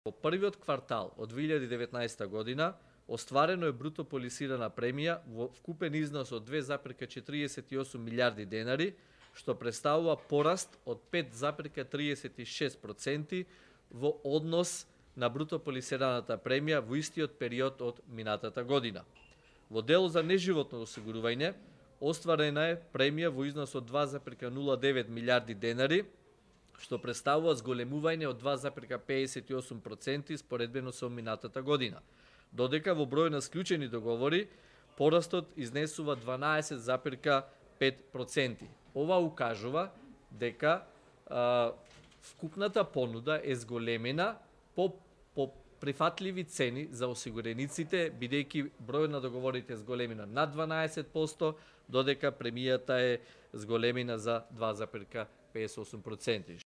Во првиот квартал од 2019 година остварено е бруто полисирана премија во вкупен износ од 2,48 милиарди денари, што представува пораст од 5,36% во однос на бруто полисираната премија во истиот период од минатата година. Во дело за неживотно осигурување, остварена е премија во износ од 2,09 милиарди денари, што представува зголемување од 2,58% споредбено со минатата година, додека во број на склучени договори порастот изнесува 12,5%. Ова укажува дека вкупната понуда е зголемена по прифатливи цени за осигурениците, бидејќи бројот на договорите е зголемена над 12%, додека премијата е зголемена за 2,58%.